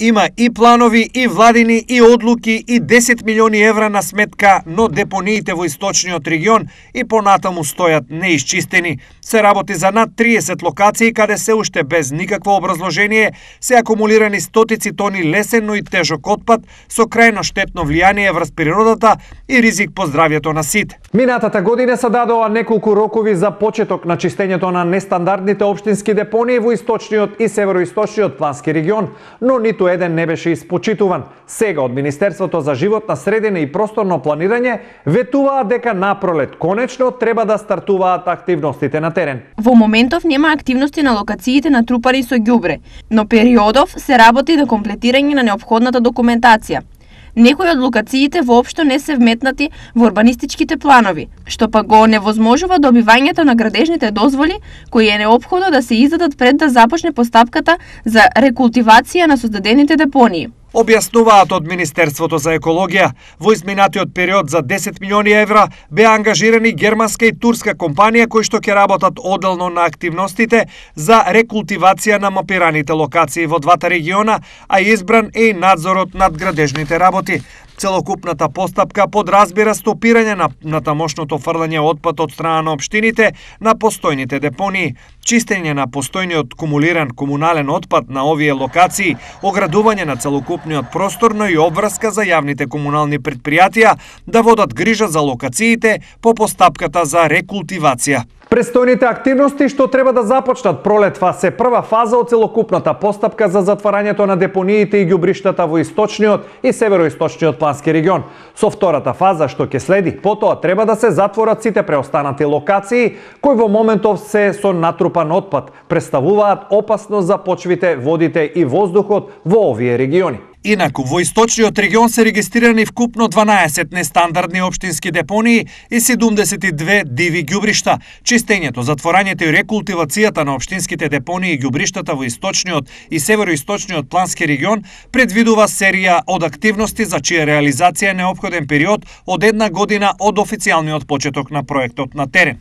Има и планови, и владини, и одлуки, и 10 милиони евра на сметка, но депониите во источниот регион и понатаму стојат неисчистени. Се работи за над 30 локации каде се уште без никакво образложение се акумулирани стотици тони лесен, но и тежок отпад со крајно штетно влијание врз природата и ризик по здравјето на сите. Минатата година се дадоа неколку рокови за почеток на чистењето на нестандардните општински депонии во источниот и североисточниот плански регион, но ниту еден не беше испочитуван. Сега од Министерството за животна средина и просторно планирање ветуваат дека напролет конечно треба да стартуваат активностите на терен. Во моментов нема активности на локациите натрупани со ѓубре, но периодов се работи до комплетирање на неопходната документација. Некои од локациите воопшто не се вметнати во урбанистичките планови, што па го невозможува добивањето на градежните дозволи кои е неопходно да се издадат пред да започне постапката за рекултивација на создадените депонии. Објаснуваат од Министерството за екологија. Во изминатиот период за 10 милиони евра беа ангажирани германска и турска компанија кои што ќе работат одделно на активностите за рекултивација на мапираните локации во двата региона, а избран е и надзорот над градежните работи. Целокупната постапка подразбира стопирање на тамошното фрлање отпад од страна на општините на постојните депонии, чистење на постојниот кумулиран комунален отпад на овие локации, оградување на целокупниот простор, но и обврска за јавните комунални претпријатија да водат грижа за локациите по постапката за рекултивација. Престојните активности што треба да започнат пролетва се прва фаза од целокупната постапка за затварањето на депониите и ѓубриштата во источниот и североисточниот плански регион. Со втората фаза што ќе следи, потоа треба да се затворат сите преостанати локации кои во моментов се со натрупан отпад, представуваат опасност за почвите, водите и воздухот во овие региони. Инаку, во источниот регион се регистрирани вкупно 12 нестандардни општински депонии и 72 диви ѓубришта. Чистењето, затворањето и рекултивацијата на општинските депонии и ѓубриштата во источниот и североисточниот плански регион предвидува серија од активности за чија реализација е неопходен период од 1 година од официјалниот почеток на проектот на терен.